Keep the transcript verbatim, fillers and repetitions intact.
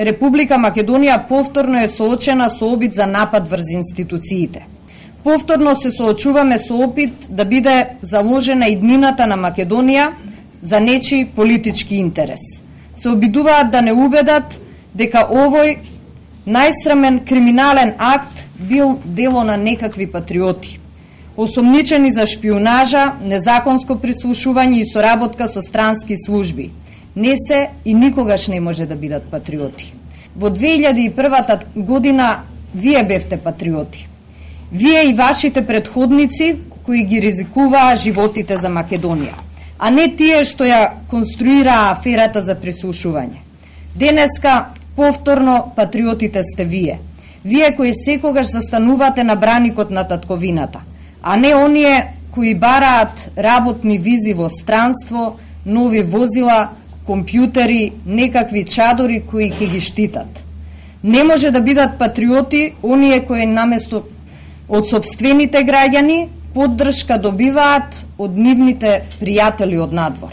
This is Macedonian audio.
Република Македонија повторно е соочена со обид за напад врз институциите. Повторно се соочуваме со опит да биде заложена иднината на Македонија за нечи политички интерес. Се обидуваат да не убедат дека овој најсрамен криминален акт бил дело на некакви патриоти, осомничени за шпионажа, незаконско прислушување и соработка со странски служби. Не се и никогаш не може да бидат патриоти. Во две илјади и прва година вие бевте патриоти. Вие и вашите предходници кои ги ризикуваа животите за Македонија, а не тие што ја конструираа аферата за прислушување. Денеска повторно патриотите сте вие. Вие кои секогаш застанувате на браникот на татковината, а не оние кои бараат работни визи во странство, нови возила, компјутери, некакви чадори кои ќе ги штитат. Не може да бидат патриоти оние кои наместо од сопствените граѓани поддршка добиваат од нивните пријатели од надвор.